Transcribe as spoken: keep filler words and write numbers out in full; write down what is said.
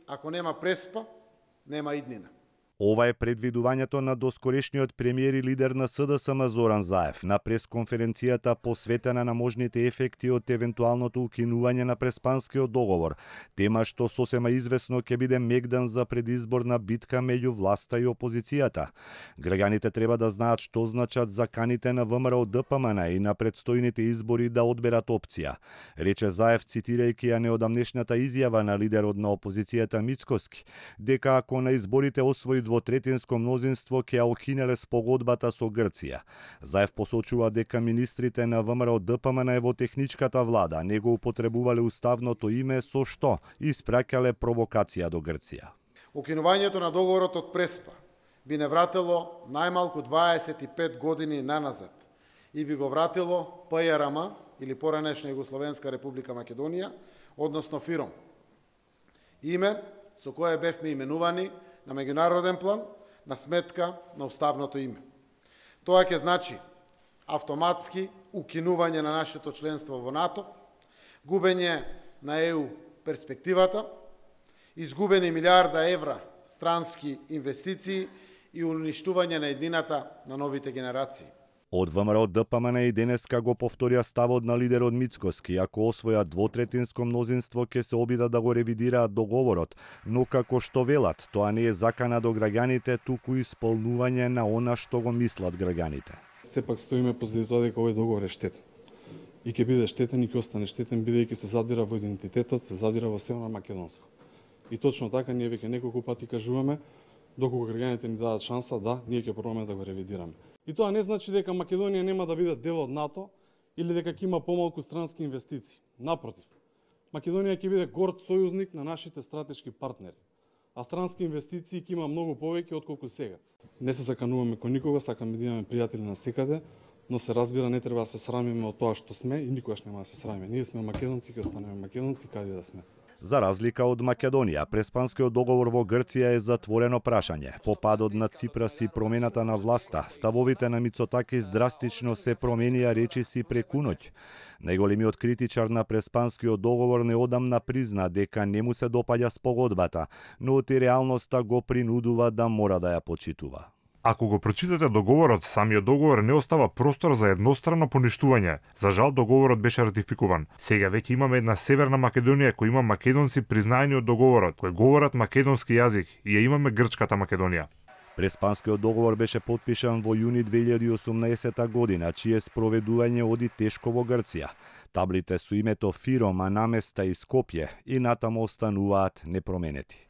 ако нема Преспа, нема иднина. Ова е предвидувањето на доскорешниот премиер и лидер на СДСМ Зоран Заев на пресконференцијата посветена на можните ефекти од евентуалното укинување на Преспанскиот договор, тема што сосема извесно ќе биде мегдан за предизборна битка меѓу власта и опозицијата. Граѓаните треба да знаат што значат заканите на ВМРО ДПМН и на предстојните избори да одберат опција, рече Заев цитирајќи ја неодамнешната изјава на лидерот на опозицијата Мицкоски, дека ако на изборите освои двотретинско мнозинство ќе ја укинеле спогодбата со Грција. Заев посочува дека министрите на ВМРО ДПМН во техничката влада не го употребувале уставното име со што испраќале провокација до Грција. Укинувањето на договорот од Преспа би не вратило најмалку дваесет и пет години наназад и би го вратило ПЈРМ или поранешна Југословенска република Македонија, односно ФИРОМ. Име со кое бевме именувани на меѓународен план, на сметка на уставното име. Тоа ќе значи автоматски укинување на нашето членство во НАТО, губење на ЕУ перспективата, изгубени милиарда евра странски инвестиции и уништување на еднината на новите генерации. Од ВМРО ДПМН и денеска го повторија ставот на лидерот Мицкоски, ако освојат двотретинско мнозинство ќе се обидат да го ревидираат договорот, но како што велат, тоа не е закана до граѓаните, туку исполнување на она што го мислат граѓаните. Сепак стоиме позади тоа дека овој договор е штетен. И ќе биде штетен и ќе остане штетен бидејќи се задира во идентитетот, се задира во сео на македонско. И точно така ние веќе неколку пати кажуваме, доколку граѓаните ни дадат шанса, да, ние ќе пробаме да го ревидираме. И тоа не значи дека Македонија нема да биде дел од НАТО или дека ќе има помалку странски инвестиции. Напротив, Македонија ќе биде горд сојузник на нашите стратешки партнери, а странски инвестиции ќе има многу повеќе отколку сега. Не се закануваме кој никога, сакаме да имаме пријатели на секаде, но се разбира не треба да се срамиме од тоа што сме и никогаш нема да се срамиме. Ние сме македонци, ќе останеме македонци каде да сме. За разлика од Македонија, Преспанскиот договор во Грција е затворено прашање. По падот на Ципрас и промената на власта, ставовите на Мицотакис драстично се променија речиси преку ноќ. Најголемиот критичар на Преспанскиот договор неодамна призна дека не му се допаѓа спогодбата, но и реалноста го принудува да мора да ја почитува. Ако го прочитате договорот, самиот договор не остава простор за едностранно поништување. За жал, договорот беше ратификуван. Сега веќе имаме една Северна Македонија која има македонци признаени од договорот, кои говорат македонски јазик и ја имаме Грчката Македонија. Преспанскиот договор беше потпишан во јуни две илјади и осумнаесета година, чие спроведување оди тешко во Грција. Таблите со името ФИРОМ, а наместа и Скопје и натаму остануваат непроменети.